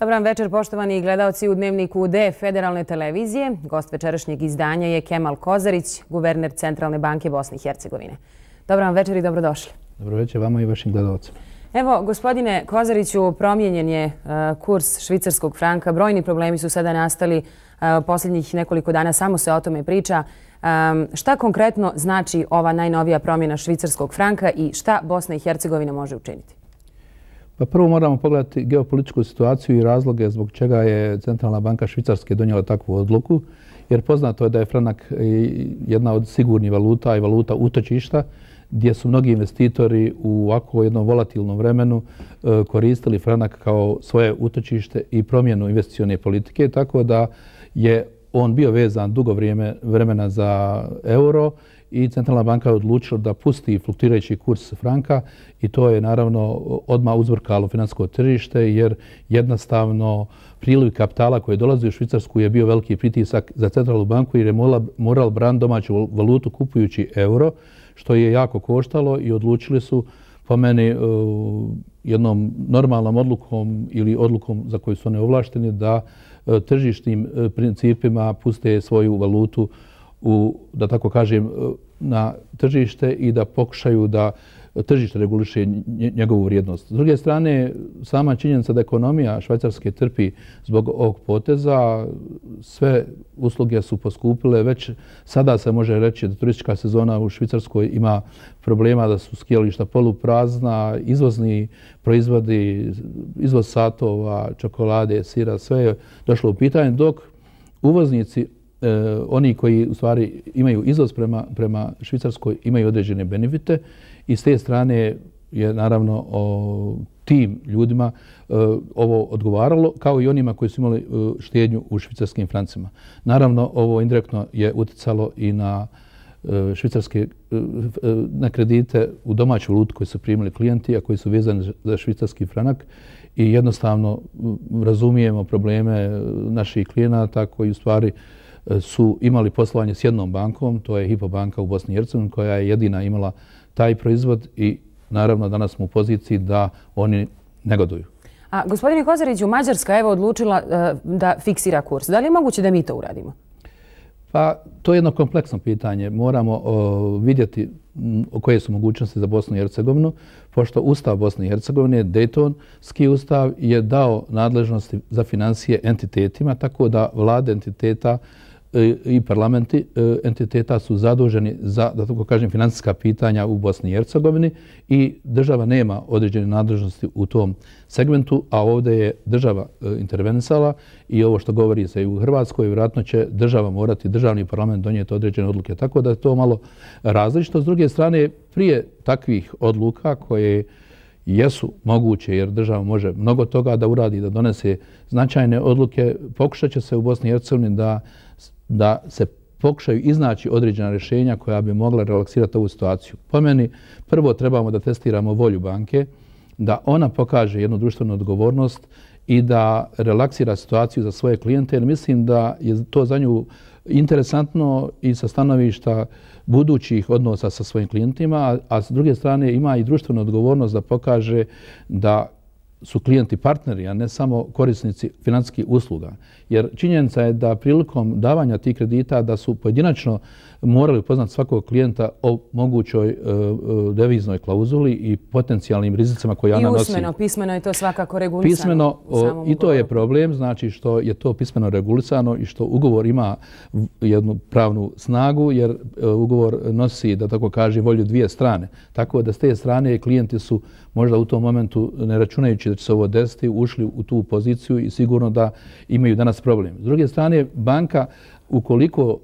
Dobar večer, poštovani gledalci u Dnevniku D Federalne televizije. Gost večerašnjeg izdanja je Kemal Kozarić, guverner Centralne banke Bosne i Hercegovine. Dobar večer i dobrodošli. Dobro večer vama i vašim gledalcima. Evo, gospodine Kozariću, promijenjen je kurs švicarskog franka. Brojni problemi su sada nastali posljednjih nekoliko dana, samo se o tome priča. Šta konkretno znači ova najnovija promjena švicarskog franka i šta Bosna i Hercegovina može učiniti? Pa prvo moramo pogledati geopolitičku situaciju i razloge zbog čega je Centralna banka Švicarske donijela takvu odluku, jer poznato je da je franak jedna od sigurnih valuta i valuta utočišta, gdje su mnogi investitori u ovako jednom volatilnom vremenu koristili franak kao svoje utočište i promjenu investicione politike, tako da je on bio vezan dugo vremena za euro i Centralna banka je odlučila da pusti fluktuirajući kurs franka i to je naravno odmah uzburkalo financijsko tržište jer jednostavno priliv kapitala koji je dolazio u Švicarsku je bio veliki pritisak za Centralnu banku jer je morala braniti domaću valutu kupujući euro, što je jako koštalo i odlučili su po meni jednom normalnom odlukom ili odlukom za koju su oni ovlašteni da tržišnim principima puste svoju valutu da tako kažem, na tržište i da pokušaju da tržište reguliše njegovu vrijednost. S druge strane, sama činjenica da ekonomija Švajcarske trpi zbog ovog poteza, sve usluge su poskupile. Već sada se može reći da turistička sezona u Švicarskoj ima problema, da su skijališta poluprazna, izvozni proizvodi, izvoz satova, čokolade, sira, sve je došlo u pitanje, dok uvoznici oni koji u stvari imaju izvoz prema Švicarskoj imaju određene benefite i s te strane je naravno tim ljudima ovo odgovaralo kao i onima koji su imali štednju u švicarskim francima. Naravno ovo indirektno je utjecalo i na švicarske na kredite u domaću valutu koji su primili klijenti, a koji su vezani za švicarski franak i jednostavno razumijemo probleme naših klijenata koji u stvari su imali poslovanje s jednom bankom, to je Hypo banka u Bosni i Hercegovini, koja je jedina imala taj proizvod i naravno danas smo u poziciji da oni negoduju. A gospodine Kozariću, Mađarska je odlučila da fiksira kurs. Da li je moguće da mi to uradimo? Pa to je jedno kompleksno pitanje. Moramo vidjeti koje su mogućnosti za Bosnu i Hercegovinu, pošto Ustav Bosne i Hercegovine, Daytonski ustav, je dao nadležnosti za financije entitetima, tako da vlade entiteta i parlamenti entiteta su zaduženi za, da tako kažem, financijska pitanja u Bosni i Hercegovini i država nema određene nadležnosti u tom segmentu, a ovdje je država intervenisala i ovo što govori se i u Hrvatskoj, vjerojatno će država morati, državni parlament donijeti određene odluke, tako da je to malo različito. S druge strane, prije takvih odluka koje jesu moguće jer država može mnogo toga da uradi, da donese značajne odluke, pokušat će se u Bosni i Hercegovini da se pokušaju iznaći određena rješenja koja bi mogla relaksirati ovu situaciju. Po meni, prvo trebamo da testiramo volju banke, da ona pokaže jednu društvenu odgovornost i da relaksira situaciju za svoje klijente, jer mislim da je to za nju interesantno i sa stanovišta budućih odnosa sa svojim klijentima, a s druge strane ima i društvenu odgovornost da pokaže da su klijenti partneri, a ne samo korisnici financijskih usluga. Jer činjenica je da prilikom davanja tih kredita da su pojedinačno morali upoznati svakog klijenta o mogućoj deviznoj klauzuli i potencijalnim rizicima koje ona nosi. I usmeno, pismeno je to svakako regulisano. Pismeno, i to je problem, znači što je to pismeno regulisano i što ugovor ima jednu pravnu snagu, jer ugovor nosi, da tako kaže, volju dvije strane. Tako da s te strane klijenti su možda u tom momentu, ne računajući da će se ovo desiti, ušli u tu poziciju i sigurno da imaju danas problem. S druge strane, banka ukoliko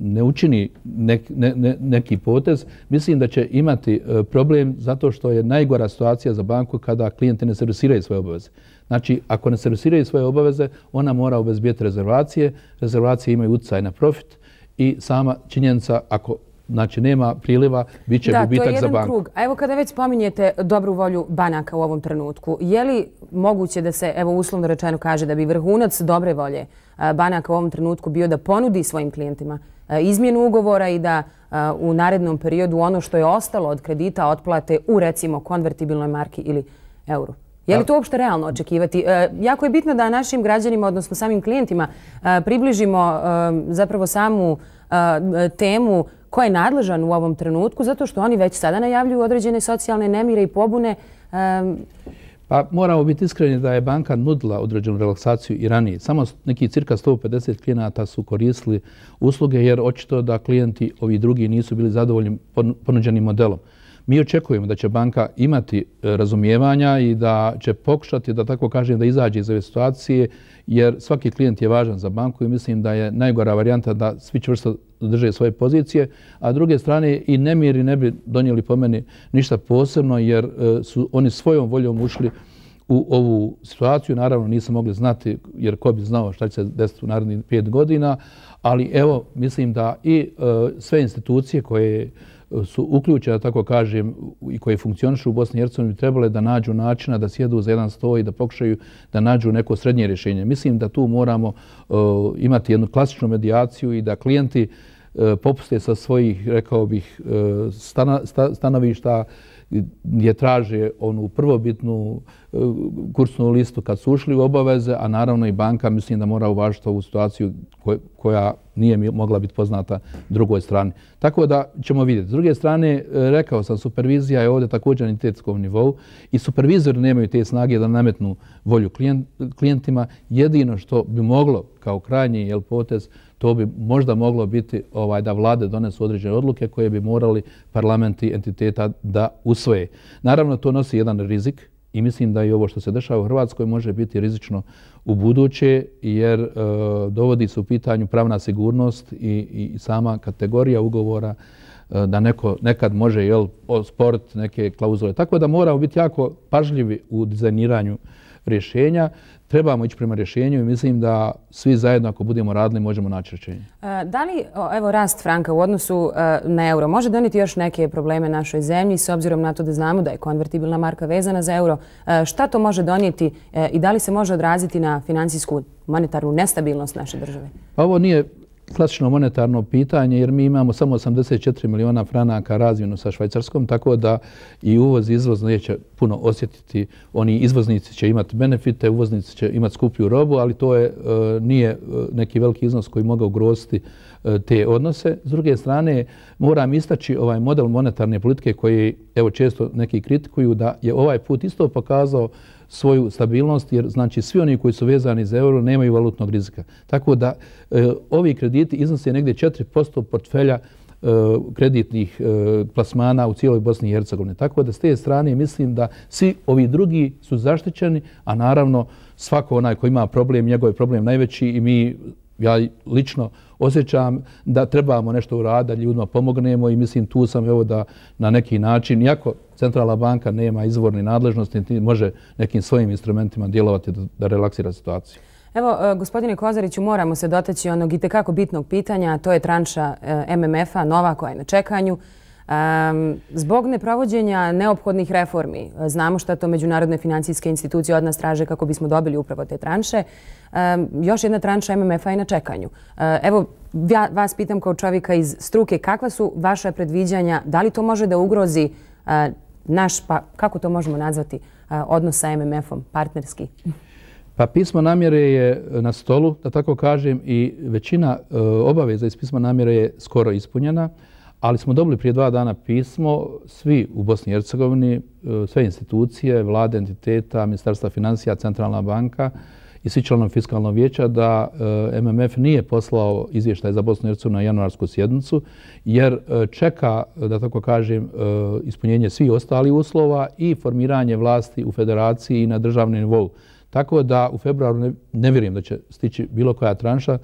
ne učini neki potez, mislim da će imati problem zato što je najgora situacija za banku kada klijenti ne servisiraju svoje obaveze. Znači, ako ne servisiraju svoje obaveze, ona mora obezbijeti rezervacije. Rezervacije imaju utjecaj na profit i sama činjenica, ako znači nema priliva, bit će gubitak za banku. Da, to je jedan krug. A evo kada već spominjete dobru volju banaka u ovom trenutku, je li moguće da se, evo uslovno rečeno kaže, da bi vrhunac dobre volje banaka u ovom trenutku bio da ponudi svojim klijentima izmjenu ugovora i da u narednom periodu ono što je ostalo od kredita otplate u recimo konvertibilnoj marki ili euru? Je li to uopšte realno očekivati? Jako je bitno da našim građanima, odnosno samim klijentima, približimo zapravo samu temu ko je nadležan u ovom trenutku, zato što oni već sada najavljuju određene socijalne nemire i pobune. Pa moramo biti iskreni da je banka nudila određenu relaksaciju i ranije. Samo neki cirka 150 klijenata su koristili usluge jer očito da klijenti ovi drugi nisu bili zadovoljni ponuđenim modelom. Mi očekujemo da će banka imati razumijevanja i da će pokušati, da tako kažem, da izađe iz ove situacije, jer svaki klijent je važan za banku i mislim da je najgora varijanta da svi čvrsto drže svoje pozicije, a s druge strane i nemiri ne bi donijeli po meni ništa posebno, jer su oni svojom voljom ušli u ovu situaciju. Naravno nisu mogli znati, jer ko bi znao šta će se desiti u narednih 5 godina, ali evo mislim da i sve institucije koje su uključene, tako kažem, i koje funkcionišu u Bosni i Hercegovini, trebale da nađu načina da sjedu za jedan sto i da pokušaju da nađu neko srednje rješenje. Mislim da tu moramo imati jednu klasičnu medijaciju i da klijenti popuste sa svojih, rekao bih, stanovišta gdje traže onu prvobitnu kursnu listu kad su ušli u obaveze, a naravno i banka mislim da mora uvažiti ovu situaciju koja nije mogla biti poznata drugoj strani. Tako da ćemo vidjeti. S druge strane, rekao sam, supervizija je ovdje također na entitetskom nivou i supervizori nemaju te snage da nametnu volju klijentima. Jedino što bi moglo kao krajnji potez, to bi možda moglo biti da vlade donesu određene odluke koje bi morali parlamenti entiteta da usvoje. Naravno, to nosi jedan rizik i mislim da i ovo što se dešava u Hrvatskoj može biti rizično u buduće, jer dovodi se u pitanju pravna sigurnost i sama kategorija ugovora da neko nekad može osporiti neke klauzule. Tako da moramo biti jako pažljivi u dizajniranju rješenja. Trebamo ići prema rješenju i mislim da svi zajedno ako budemo radili možemo naći rješenje. Da li rast franka u odnosu na euro može donijeti još neke probleme našoj zemlji s obzirom na to da znamo da je konvertibilna marka vezana za euro? Šta to može donijeti i da li se može odraziti na financijsku monetarnu nestabilnost naše države? Pa ovo nije klasično monetarno pitanje jer mi imamo samo 84 miliona franaka razmjenu sa Švajcarskom, tako da i uvoz i izvoz neće puno osjetiti. Oni izvoznici će imati benefite, uvoznici će imati skuplju robu, ali to nije neki veliki iznos koji može ugroziti te odnose. S druge strane, moram istaći ovaj model monetarne politike koji evo često neki kritikuju da je ovaj put isto pokazao svoju stabilnost, jer znači svi oni koji su vezani za euro nemaju valutnog rizika. Tako da ovi krediti iznose negdje 4% portfelja kreditnih plasmana u cijeloj Bosni i Hercegovini. Tako da s te strane mislim da svi ovi drugi su zaštićeni, a naravno svako onaj koji ima problem, njegov je problem najveći i ja lično osjećam da trebamo nešto uraditi, da ljudima pomognemo i mislim tu sam evo da na neki način, iako Centralna banka nema izvorne nadležnosti, može nekim svojim instrumentima djelovati da relaksira situaciju. Evo, gospodine Kozariću, moramo se dotaći onog itekako bitnog pitanja, a to je tranša MMF-a, nova koja je na čekanju. Zbog neprovođenja neophodnih reformi, znamo šta to međunarodne financijske institucije od nas traže kako bismo dobili upravo te tranše, još jedna tranša MMF-a je na čekanju. Evo, vas pitam kao čovjeka iz struke, kakva su vaša predviđanja, da li to može da ugrozi naš, pa kako to možemo nazvati, odnos sa MMF-om, partnerski? Pa pismo namjere je na stolu, da tako kažem, i većina obaveza iz pisma namjere je skoro ispunjena, ali smo dobili prije 2 dana pismo, svi u Bosni i Hercegovini, sve institucije, vlade, entiteta, Ministarstva financija, Centralna banka i svi članovi fiskalnog vijeća da MMF nije poslao izvještaj za Bosnu i Hercegovinu na januarsku sjednicu, jer čeka, da tako kažem, ispunjenje svih ostalih uslova i formiranje vlasti u federaciji i na državnom nivou. Tako da u februaru ne vjerujem da će stići bilo koja tranša,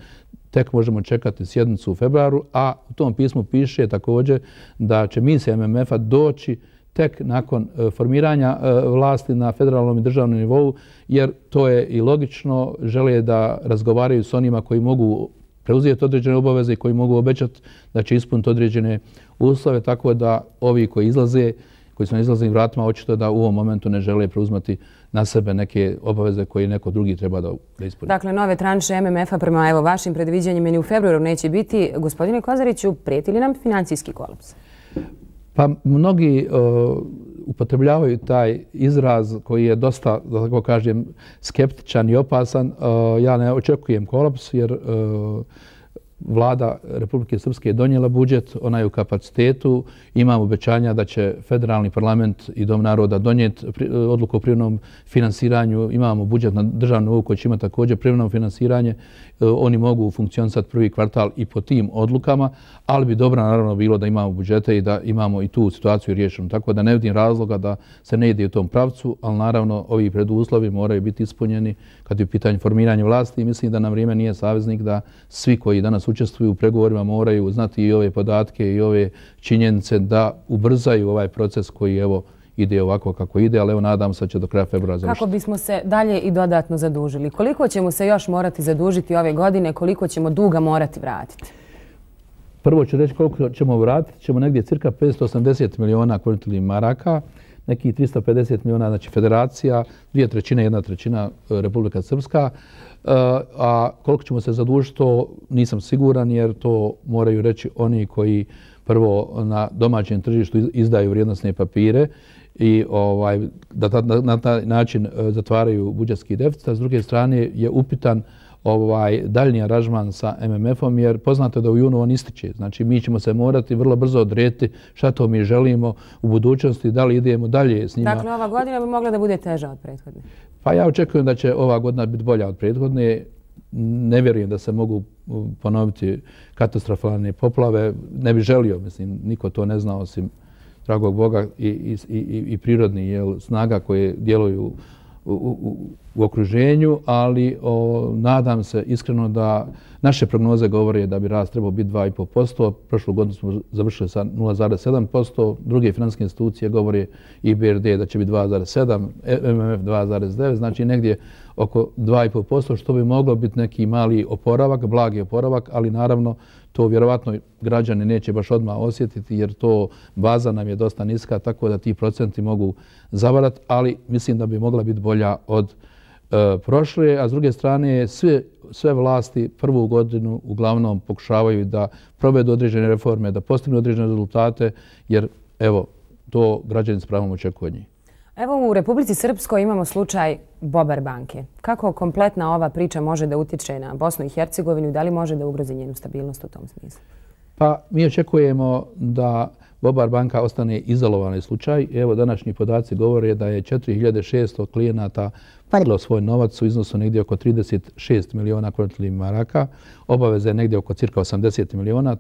tek možemo čekati sjednicu u februaru, a u tom pismu piše također da će misija MMF-a doći tek nakon formiranja vlasti na federalnom i državnom nivou, jer to je i logično, žele da razgovaraju s onima koji mogu preuzeti određene obaveze i koji mogu obećati da će ispuniti određene uslove, tako da ovi koji su na izlaznim vratima, očito da u ovom momentu ne žele preuzmati na sebe neke obaveze koje neko drugi treba da ispuni. Dakle, nove tranše MMF-a prema vašim predviđanjima ni u februaru neće biti. Gospodine Kozariću, prijeti li nam financijski kolaps? Pa mnogi upotrebljavaju taj izraz koji je dosta, da tako kažem, skeptičan i opasan. Ja ne očekujem kolaps jer Vlada Republike Srpske je donijela budžet, ona je u kapacitetu, imam obećanja da će federalni parlament i Dom naroda donijeti odluku o privremenom finansiranju, imamo budžet na državnom nivou koji će imati također privremeno finansiranje, oni mogu funkcionisati prvi kvartal i po tim odlukama, ali bi dobro naravno bilo da imamo budžete i da imamo i tu situaciju riješenu. Tako da ne vidim razloga da se ne ide u tom pravcu, ali naravno ovi preduslovi moraju biti ispunjeni kad je u pitanju formiranja vlasti i mislim da na vrijeme nije saveznik da svi koji danas učestvuju u pregovorima moraju znati i ove podatke i ove činjenice da ubrzaju ovaj proces koji evo ide ovako kako ide, ali evo nadam se da će do kraja februara završiti. Kako bismo se dalje i dodatno zadužili? Koliko ćemo se još morati zadužiti ove godine? Koliko ćemo duga morati vratiti? Prvo ću reći koliko ćemo vratiti. Ćemo negdje cirka 580 miliona konvertibilnih maraka, nekih 350 miliona, znači federacija, 2/3, 1/3 Republika Srpska. A koliko ćemo se zadužiti, to nisam siguran jer to moraju reći oni koji prvo na domaćem tržištu izdaju vrijednosne papire i da na taj način zatvaraju budžetski deficit. S druge strane je upitan daljnji aranžman sa MMF-om jer poznato je da u junu on ističe. Znači mi ćemo se morati vrlo brzo odrediti šta to mi želimo u budućnosti, da li idemo dalje s njima. Dakle, ova godina bi mogla da bude teža od prethodne. Pa ja očekujem da će ova godina biti bolja od prethodne. Ne vjerujem da se mogu ponoviti katastrofalne poplave. Ne bi želio, mislim, niko to ne zna osim dragog Boga i prirodnih snaga koje djeluju u okruženju, ali nadam se iskreno da naše prognoze govore da bi rast trebao biti 2,5%. Prošlu godinu smo završili sa 0,7%. Druge financijske institucije govore i BRD da će biti 2,7%, MMF 2,9%, znači negdje oko 2,5%, što bi moglo biti neki mali oporavak, blagi oporavak, ali naravno to vjerovatno građani neće baš odmah osjetiti jer to baza nam je dosta niska, tako da ti procenti mogu zavarati, ali mislim da bi mogla biti bolja od prošle, a s druge strane sve vlasti prvu godinu uglavnom pokušavaju da provedu određene reforme, da postignu određene rezultate, jer evo, to građani s pravom očekuju od njih. Evo u Republici Srpskoj imamo slučaj Bobar banke. Kako kompletna ova priča može da utječe na Bosnu i Hercegovinu i da li može da ugrozi njenu stabilnost u tom smislu? Pa mi očekujemo da Bobar banka ostane izolovani slučaj. Evo današnji podaci govore da je 4600 klijenata podiglo svoj novac u iznosu negdje oko 36 miliona konvertibilnih maraka. Obaveze je negdje oko cirka 80 miliona.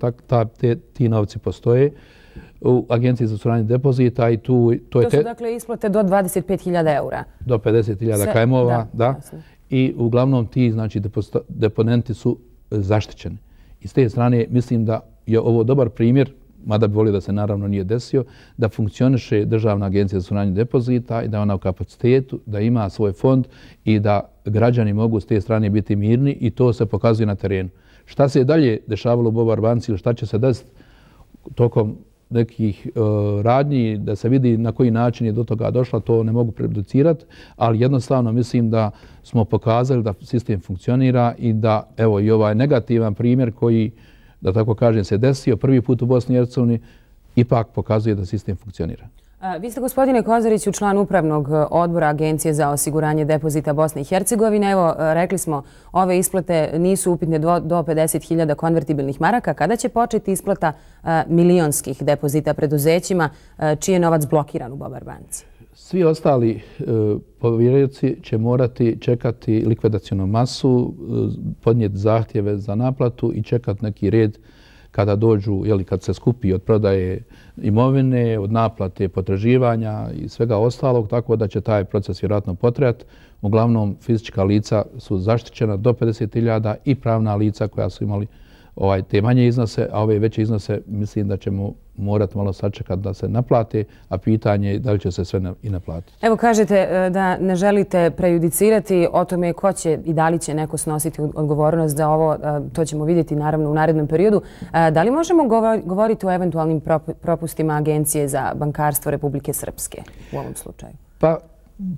Ti novci postoje u Agenciji za osiguranje depozita i to su dakle isplate do 25.000 eura. Do 50.000 kajmova, da. I uglavnom ti znači deponenti su zaštićeni. I s te strane mislim da je ovo dobar primjer, mada bi volio da se naravno nije desio, da funkcioniše Državna agencija za osiguranje depozita i da ona u kapacitetu, da ima svoj fond i da građani mogu s te strane biti mirni i to se pokazuje na terenu. Šta se je dalje dešavalo u Bobar banci ili šta će se desiti tokom nekih radnji, da se vidi na koji način je do toga došla, to ne mogu prejudicirati, ali jednostavno mislim da smo pokazali da sistem funkcionira i da evo i ovaj negativan primjer koji, da tako kažem, se desio prvi put u Bosni i Hercegovini, ipak pokazuje da sistem funkcionira. Vi ste, gospodine Kozariću, član upravnog odbora Agencije za osiguranje depozita Bosne i Hercegovine. Evo, rekli smo, ove isplate nisu upitne do 50.000 konvertibilnih maraka. Kada će početi isplata milionskih depozita preduzećima čiji je novac blokiran u Bobar banci? Svi ostali povjerioci će morati čekati likvidacionu masu, podnijeti zahtjeve za naplatu i čekati neki red kada dođu, kad se skupi od prodaje imovine, od naplate potraživanja i svega ostalog, tako da će taj proces vjerojatno potrajati. Uglavnom, fizička lica su zaštićena do 50.000 i pravna lica koja su imali te manje iznose, a ove veće iznose mislim da ćemo morati malo sačekati da se naplate, a pitanje je da li će se sve i naplatiti. Evo kažete da ne želite prejudicirati o tome ko će i da li će neko snositi odgovornost za ovo, to ćemo vidjeti naravno u narednom periodu. Da li možemo govoriti o eventualnim propustima Agencije za bankarstvo Republike Srpske u ovom slučaju? Pa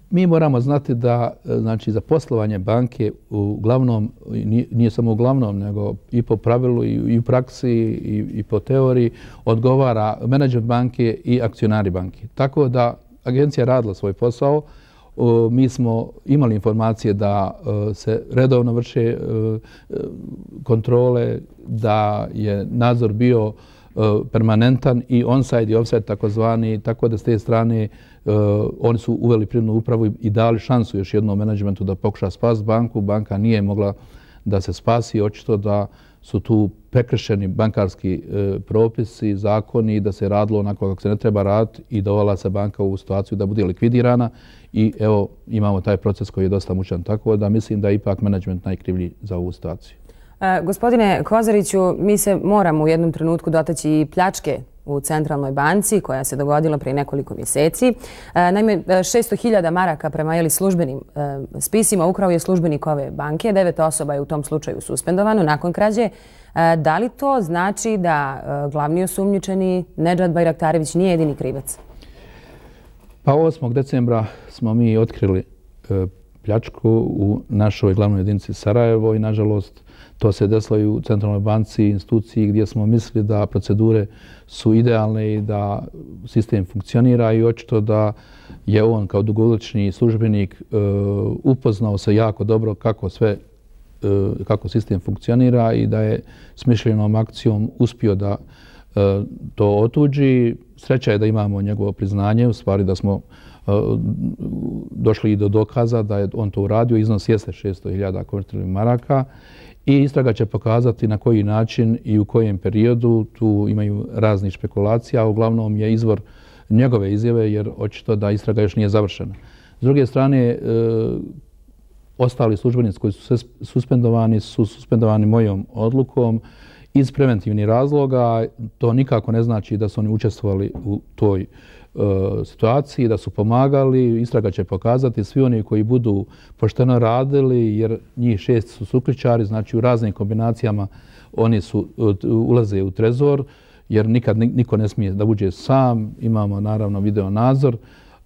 mi moramo znati da znači, za poslovanje banke uglavnom, nije samo uglavnom, nego i po pravilu i u praksi i po teoriji odgovara menadžment banke i akcionari banke. Tako da agencija radila svoj posao. Mi smo imali informacije da se redovno vrše kontrole, da je nadzor bio permanentan i on-site i off-site takozvani, tako da s te strane oni su uveli privrednu upravu i dali šansu još jednom menadžmentu da pokuša spasiti banku. Banka nije mogla da se spasi, očito da su tu prekršeni bankarski propisi, zakoni i da se radilo onako kako se ne treba raditi i dovela se banka u situaciju da bude likvidirana i evo imamo taj proces koji je dosta mučan. Tako da mislim da je ipak menadžment najkrivlji za ovu situaciju. Gospodine Kozariću, mi se moramo u jednom trenutku dotaći i pljačke u Centralnoj banci koja se dogodila prije nekoliko mjeseci. Naime, 600.000 maraka prema službenim spisima ukrao je službenik ove banke. 9 osoba je u tom slučaju suspendovano nakon krađe. Da li to znači da glavni osumnjičeni Nedžad Bajraktarević nije jedini krivac? Pa 8. decembra smo mi otkrili pljačku u našoj glavnoj jedinici Sarajevo i nažalost to se desilo i u Centralnoj banci, instituciji gdje smo mislili da procedure su idealne i da sistem funkcionira i očito da je on kao dugogodišnji službenik upoznao se jako dobro kako sistem funkcionira i da je smišljenom akcijom uspio da to otuđi. Sreća je da imamo njegovo priznanje, u stvari da smo došli i do dokaza da je on to uradio. Iznos jeste 600.000 konvertibilnih maraka i istraga će pokazati na koji način i u kojem periodu. Tu imaju raznih špekulacija, a uglavnom je izvor njegove izjave jer očito da istraga još nije završena. S druge strane, ostali službenici koji su suspendovani mojom odlukom iz preventivnih razloga. To nikako ne znači da su oni učestvovali u toj situaciji, da su pomagali. Istraga će pokazati svi oni koji budu pošteno radili, jer njih 6 su sukličari, znači u raznim kombinacijama oni ulaze u trezor, jer nikad niko ne smije da uđe sam. Imamo naravno video nadzor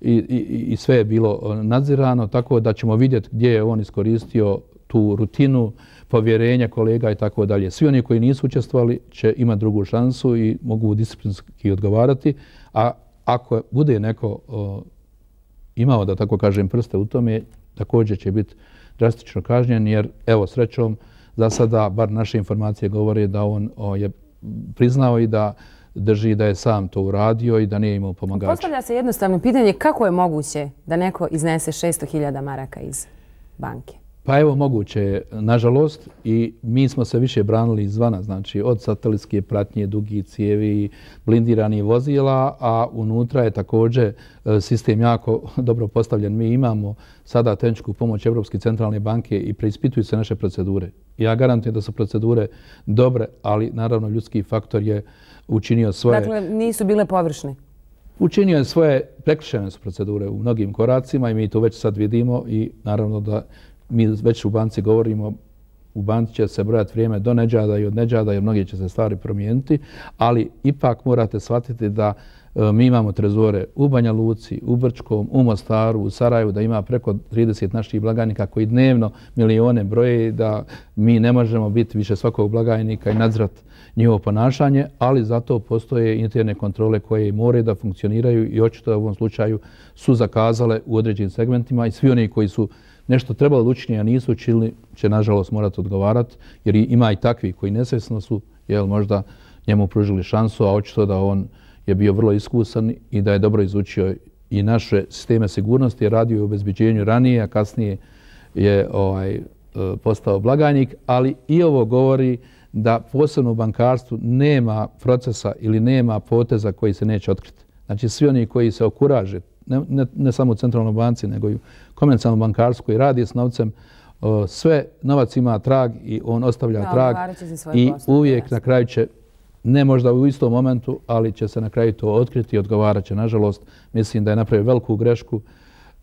i sve je bilo nadzirano, tako da ćemo vidjeti gdje je on iskoristio tu rutinu, povjerenja kolega i tako dalje. Svi oni koji nisu učestvovali će imati drugu šansu i mogu disciplinski odgovarati, a ako bude neko imao, da tako kažem, prste u tome, također će biti drastično kažnjen, jer evo srećom za sada, bar naše informacije govore da on je priznao i da drži da je sam to uradio i da nije imao pomagača. Postavlja se jednostavno pitanje kako je moguće da neko iznese 600.000 maraka iz banke? Pa evo, moguće je, nažalost, i mi smo se više branili izvana, znači od satelitske pratnje, dugi cijevi, blindiranih vozila, a unutra je također sistem jako dobro postavljen. Mi imamo sada tehničku pomoć Evropske centralne banke i preispituju se naše procedure. Ja garantujem da su procedure dobre, ali naravno ljudski faktor je učinio svoje... Dakle, nisu bile površne? Učinio je svoje, prekršene su procedure u mnogim koracima i mi to već sad vidimo i naravno da mi već u banci govorimo, u banci će se brojati vrijeme do Nedžada i od Nedžada jer mnogi će se stvari promijeniti, ali ipak morate shvatiti da mi imamo trezore u Banja Luci, u Brčkom, u Mostaru, u Sarajevu, da ima preko 30 naših blagajnika koji dnevno milijone broje, da mi ne možemo biti više svakog blagajnika i nadzirati njihovo ponašanje, ali zato postoje interne kontrole koje moraju da funkcioniraju i očito u ovom slučaju su zakazale u određenim segmentima i svi oni koji su nešto trebalo učiniti, a nisu učinili, će nažalost morati odgovarati, jer ima i takvi koji nesvjesno su možda njemu pružili šansu, a očito da on je bio vrlo iskusan i da je dobro izučio i naše sisteme sigurnosti, je radio u obezbeđenju ranije, a kasnije je postao blagajnik, ali i ovo govori da posebno u bankarstvu nema procesa ili nema poteza koji se neće otkriti. Znači svi oni koji se okuraže, ne samo u Centralnoj banci, nego i u komercijalnom bankarstvu koji radi s novcem, sve novac ima trag i on ostavlja trag i uvijek na kraju će, ne možda u istom momentu, ali će se na kraju to otkriti i odgovarat će. Nažalost, mislim da je napravio veliku grešku,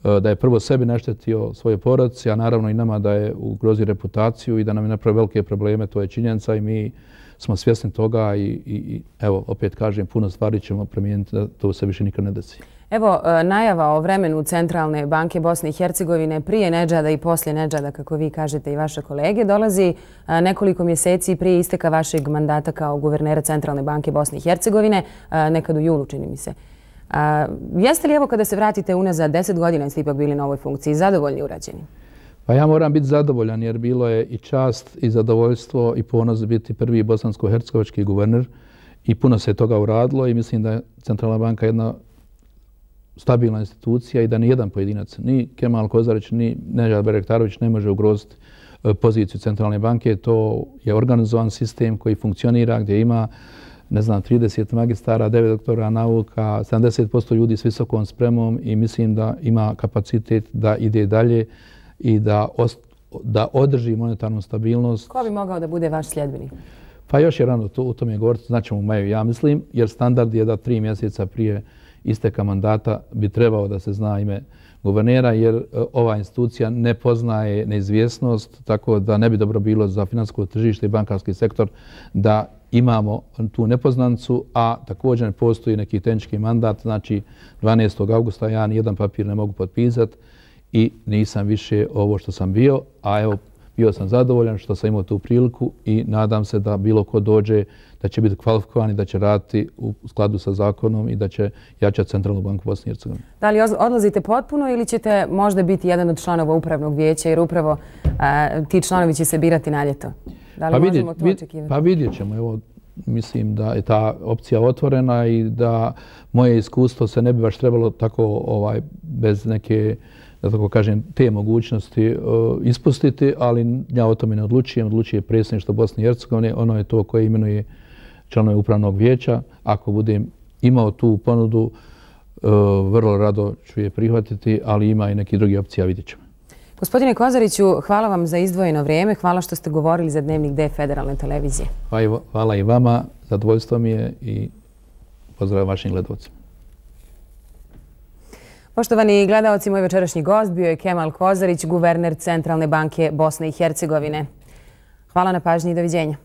da je prvo sebi naštetio svoje porodici, a naravno i nama da je ugrozio reputaciju i da nam je napravio velike probleme, to je činjenica i mi smo svjesni toga i evo, opet kažem, puno stvari ćemo promijeniti da to se više nikad ne desi. Evo, najava o vremenu Centralne banke Bosne i Hercegovine prije Nedžada i poslije Nedžada, kako vi kažete i vaše kolege, dolazi nekoliko mjeseci prije isteka vašeg mandata kao guvernera Centralne banke Bosne i Hercegovine, nekad u julu, čini mi se. Jeste li, evo, kada se vratite unazad 10 godina, ste ipak bili na ovoj funkciji, zadovoljni urađeni? Pa ja moram biti zadovoljan jer bilo je i čast i zadovoljstvo i ponos biti prvi bosansko-hercegovački guverner i puno se toga uradilo i mislim da je Centralna banka jedna stabilna institucija i da ni jedan pojedinac, ni Kemal Kozarić, ni Nedžad Bayraktarović ne može ugroziti poziciju Centralne banke. To je organizovan sistem koji funkcionira gdje ima 30 magistara, 9 doktora nauka, 70% ljudi s visokom spremom i mislim da ima kapacitet da ide dalje i da održi monetarnu stabilnost. Ko bi mogao da bude vaš sljedbenik? Pa još je rano u tome govoriti, znaćemo u maju, ja mislim, jer standard je da 3 mjeseca prije isteka mandata bi trebao da se zna ime guvernera, jer ova institucija ne poznaje neizvjesnost, tako da ne bi dobro bilo za financijsko tržište i bankarski sektor da imamo tu nepoznancu, a također ne postoji neki tehnički mandat, znači 12. augusta ja nijedan papir ne mogu potpisati i nisam više ovo što sam bio, a evo bio sam zadovoljan što sam imao tu priliku i nadam se da bilo ko dođe da će biti kvalifikovan i da će raditi u skladu sa zakonom i da će jačati Centralnu banku Bosne i Hercegovine. Da li odlazite potpuno ili ćete možda biti jedan od članova upravnog vijeća jer upravo ti članovi će se birati na ljeto? Da li možemo to očekivati? Pa vidjet ćemo. Evo, mislim da je ta opcija otvorena i da moje iskustvo se ne bi baš trebalo tako bez neke, da tako kažem, te mogućnosti ispustiti, ali ja o tome ne odlučujem. Odlučuje predsjedništvo Bosne i Hercegovine. Ono je to koje imenuje članove upravnog vijeća. Ako budem imao tu ponudu, vrlo rado ću je prihvatiti, ali ima i neki drugi opcija, vidjet ćemo. Gospodine Kozariću, hvala vam za izdvojeno vrijeme. Hvala što ste govorili za Dnevnik D Federalne televizije. Hvala i vama. Zadovoljstvo mi je i pozdrav vašim gledalcima. Poštovani gledalci, moj večerašnji gost bio je Kemal Kozarić, guverner Centralne banke Bosne i Hercegovine. Hvala na pažnji i doviđenja.